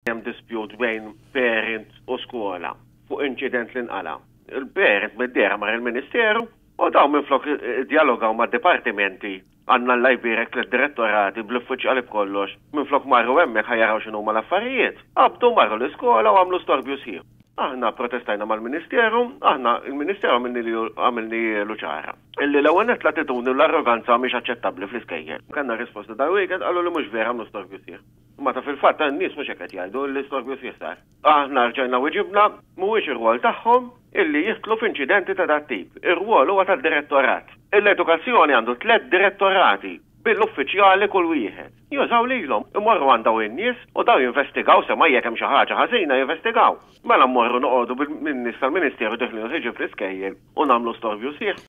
Hemm dispute bejn parent u skola fuq inċident li nqala. Il-parent mid-dehra mar il-Ministeru u dawn minflok iddjalogaw mad-dipartimenti, għandna Alla jbierek lid-direttorati bl-uffiċjali b'kollox, minflok marru hemmhekk ħa jaraw x'inhuma l-affarijiet, qabdu marru l-iskola u għamlu storbju sħiħ. Aħna pprotestajna mal-Ministeru, aħna il-Ministeru għamilnielu ċara illi l-ewwel nett l-attitudni u l-arroganza mhix aċċettabbli fl-iskejjel. Kellna risposta dal-weekend qalu li mhux vera għamlu storbju sħiħ. Imma ta' fil-fatt in-nies mhux hekk qed jgħidu li storbju sħiħ sar. Aħna rġajna wiġibna, mhuwiex ir-rwol tagħhom illi jidħlu f'inċidenti ta' dat-tip. Ir-rwol huwa tad-direttorat. L-edukazzjoni għandu tlett direttorati bil-uffiċjali kull wieħed. Jużaw lilhom, imorru għand dawn in-nies u dawn jinvestigaw semmai jekk hemm xi ħaġa ħażina jinvestigaw. Mela mmorru noqogħdu bin-nies tal-Ministeru deħlin u ħierġin fl-iskejjel u nagħmlu storbju sħiħ.